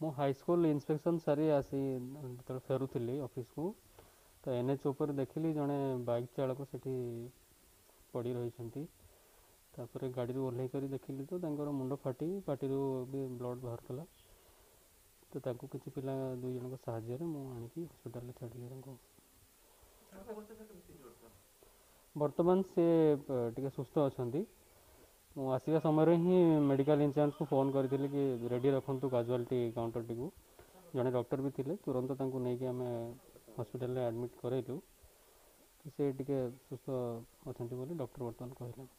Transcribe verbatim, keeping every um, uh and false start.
ମୁଁ high school inspection ସାରି ଆସି ଯେତେବେଳେ ଫେରୁଥିଲି ଅଫିସକୁ, ତ ଏନ୍ ଏଚ୍ ଉପରେ ଦେଖିଲି ଜଣେ ବାଇକ୍ ଚାଳକ ସେଠି ପଡ଼ି ରହିଛନ୍ତି। ତାପରେ ଗାଡ଼ିରୁ ଓହ୍ଲେଇ କରି ଦେଖିଲି ତ ତାଙ୍କର ମୁଣ୍ଡ ଫାଟି ପାଟିରୁ ବି ବ୍ଲଡ଼ ବାହାରୁଥିଲା। ତ ତାଙ୍କୁ କିଛି ପିଲା ଦୁଇ ଜଣଙ୍କ ସାହାଯ୍ୟରେ ମୁଁ ଆଣିକି ହସ୍ପିଟାଲରେ ଛାଡ଼ିଲି ତାଙ୍କୁ। ବର୍ତ୍ତମାନ ସେ ଟିକେ ସୁସ୍ଥ ଅଛନ୍ତି। ମୁଁ ଆସିବା ସମୟରେ ହିଁ ମେଡ଼ିକାଲ ଇନଚାର୍ଜକୁ ଫୋନ୍ କରିଥିଲି କି ରେଡ଼ି ରଖନ୍ତୁ କାଜୁଆଲିଟି କାଉଣ୍ଟରଟିକୁ। ଜଣେ ଡକ୍ଟର ବି ଥିଲେ, ତୁରନ୍ତ ତାଙ୍କୁ ନେଇକି ଆମେ ହସ୍ପିଟାଲରେ ଆଡ଼ମିଟ୍ କରାଇଲୁ। ସେ ଟିକେ ସୁସ୍ଥ ଅଛନ୍ତି ବୋଲି ଡକ୍ଟର ବର୍ତ୍ତମାନ କହିଲେ।